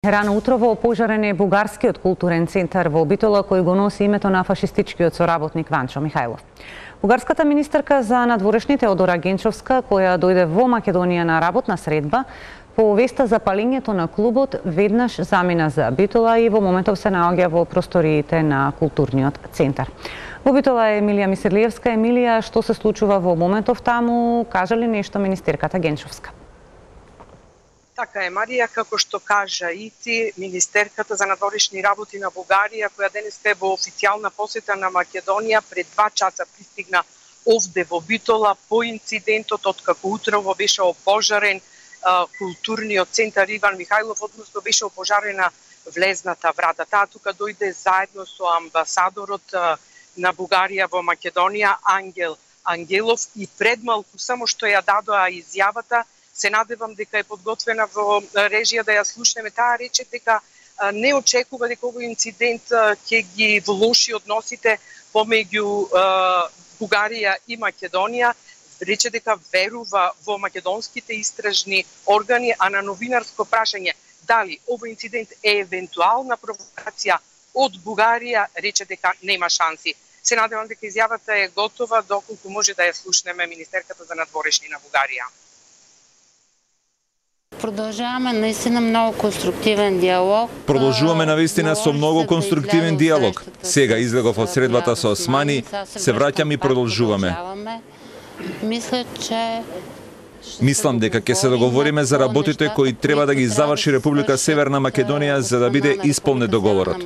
Рано утрово пожарен е бугарскиот културен центар во Битола кој го носи името на фашистичкиот соработник Ванчо Михајлов. Бугарската министерка за надворешните Одора Генчовска, која дојде во Македонија на работна средба, по веста за палењето на клубот веднаш замина за Битола и во моментов се наоѓа во просториите на културниот центар. Во Битола е Емилија Мисирлиевска. Емилија, што се случува во моментов таму? Кажа ли нешто министерката Генчовска? Така е, Марија, како што кажа и ти, министерката за надворешни работи на Бугарија, која денеска е во официјална посета на Македонија, пред 2 часа пристигна овде во Битола по инцидентот, откако утрово беше опожарен културниот центар Иван Михајлов, односно беше опожарена влезната врата. Таа тука дојде заедно со амбасадорот на Бугарија во Македонија, Ангел Ангелов, и предмалку само што ја дадоа изјавата. Се надевам дека е подготвена во режија да ја слушнеме. Таа рече дека не очекува дека овој инцидент ќе ги влоши односите помеѓу Бугарија и Македонија. Рече дека верува во македонските истражни органи, а на новинарско прашање дали овој инцидент е евентуална провокација од Бугарија, рече дека нема шанси. Се надевам дека изјавата е готова доколку може да ја слушнеме министерката за надворешни на Бугарија. Продолжаваме наистина многу конструктивен диалог. Продолжуваме навистина со многу конструктивен диалог. Сега излегов од средбата со Османи, се враќам и продолжуваме. Мислам дека ќе се договориме за работите кои треба да ги заврши Република Северна Македонија за да биде исполнет договорот.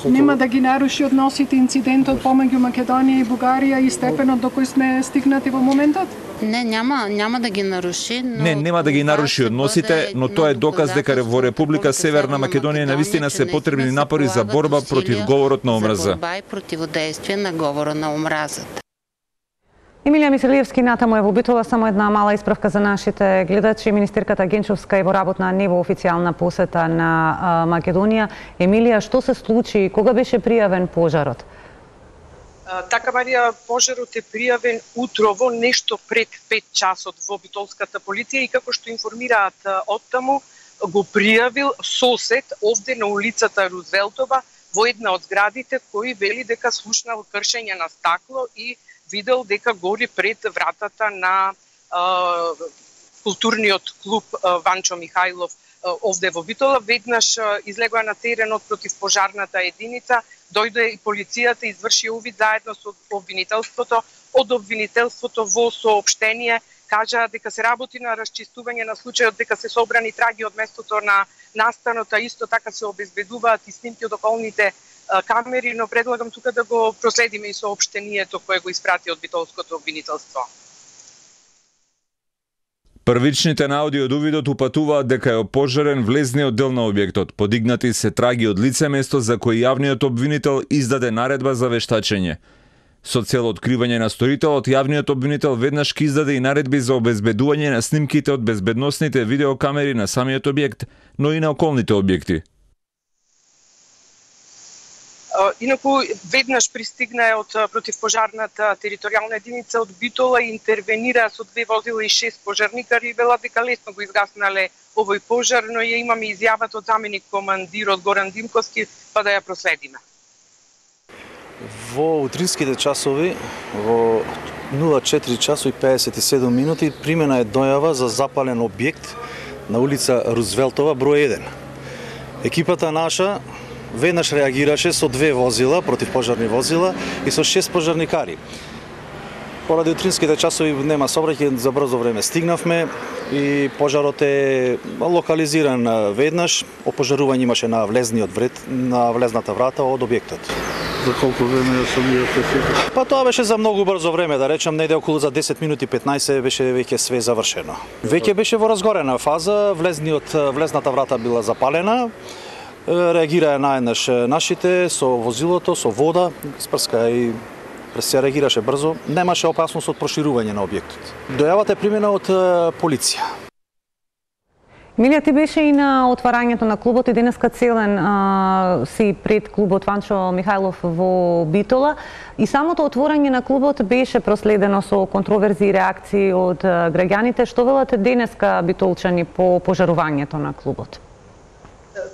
Нема да ги наруши односите инцидентот помеѓу Македонија и Бугарија и степенот до кој сме стигнати во моментот? Не, нема да ги наруши. Не, нема да ги наруши односите, но тоа е доказ дека во Република Северна Македонија навистина се потребни напори за борба против говорот на омраза. Борба и противодејствие на говорот на омразата. Емилија Мисирлиевски натаму е во Битола. Само една мала исправка за нашите гледачи. Министерката Генчовска е во работна, не во официјална посета на Македонија. Емилија, што се случи? Кога беше пријавен пожарот? Така, Марија, пожарот е пријавен утрово, нешто пред 5 часот во битолската полиција, и како што информираат оттаму, го пријавил сосед овде на улицата Рузвелтова во една од зградите, кој вели дека слушнал кршење на стакло и видел дека гори пред вратата на културниот клуб Ванчо Михајлов овде во Битола. Веднаш излегоа на теренот против пожарната единица, дојде и полицијата, изврши увид заедно со обвинителството. Од обвинителството во соопштение кажаа дека се работи на расчистување на случајот, дека се собрани траги од местото на настанот, а исто така се обезбедуваат и снимки од околните камери, но предлагам тука да го проследиме и соопштението кое го испрати од битолското обвинителство. Првичните наоди од увидот упатуваат дека е опожарен влезниот дел на објектот. Подигнати се траги од лице место за кој јавниот обвинител издаде наредба за вештачење. Со цел откривање на сторителот, јавниот обвинител веднаш ки издаде и наредби за обезбедување на снимките од безбедносните видеокамери на самиот објект, но и на околните објекти. Инаку, веднаш пристигна од противпожарната територијална единица од Битола и интервенира со 2 возила и 6 пожарникари и велат дека лесно го изгаснале овој пожар, но ја имаме изјавата од заменик командирот Горан Димковски, па да ја проследиме. Во утринските часови, во 04 часот и 57 минути, примена е дојава за запален објект на улица Рузвелтова, број 1. Екипата наша веднаш реагираше со 2 возила, противпожарни возила, и со 6 пожарникари. Поради утринските часови нема сообраќај, за брзо време стигнавме и пожарот е локализиран веднаш. Опожарување имаше на влезниот вред, на влезната врата од објектот. За колку време собијате се? Па тоа беше за многу брзо време, да речам, неде околу за 10 минути 15 беше веќе све завршено. Веќе беше во разгорена фаза, влезната врата била запалена. Реагираа наеднаш нашите со возилото, со вода, спрска и се реагираше брзо. Немаше опасност од проширување на објектот. Дојавата е примена од полиција. Емилија, ти беше и на отварањето на клубот и денеска целен си пред клубот Ванчо Михајлов во Битола. И самото отворање на клубот беше проследено со контроверзи и реакции од граѓаните. Што велате денеска битолчани по пожарувањето на клубот?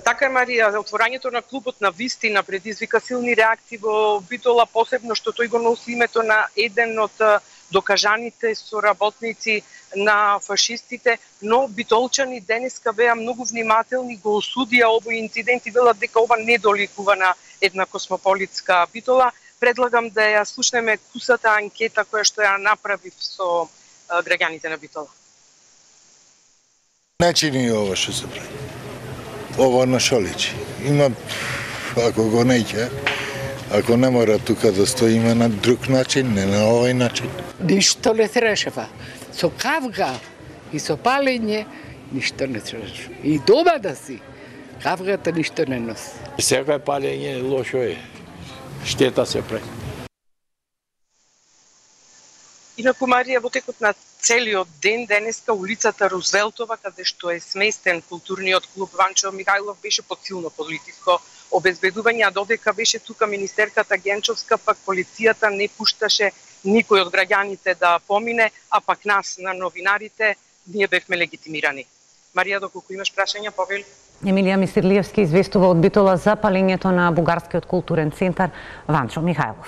Така е, Марија, отворањето на клубот на вистина предизвика силни реакции во Битола, посебно што тој го носи името на еден од докажаните соработници на фашистите, но битолчани денеска беа многу внимателни, го осудија овој инцидент и велат дека ова не доликува на една космополитска Битола. Предлагам да ја слушнеме кусата анкета која што ја направив со граѓаните на Битола. Не чини ова што се прави. Ова на шо личи. Има, ако го неќе, ако не мора тука да стоиме на друг начин, не на овој начин. Ништо не се решава. Со кавга и со палење, ништо не се решава. И дома да си, кавгата ништо не носи. Секој палење лошо е. Штета се прави. Инаку, Марија, во текот на целиот ден денеска улицата Рузвелтова, каде што е сместен културниот клуб Ванчо Михајлов, беше под силно политичко обезбедување, а додека беше тука министерката Генчовска, пак полицијата не пушташе никој од граѓаните да помине, а пак нас, на новинарите, ние бевме легитимирани. Марија, доколку имаш прашања, повели. Емилија Мисирлиевски известува од Битола за палењето на Бугарскиот културен центар Ванчо Михајлов.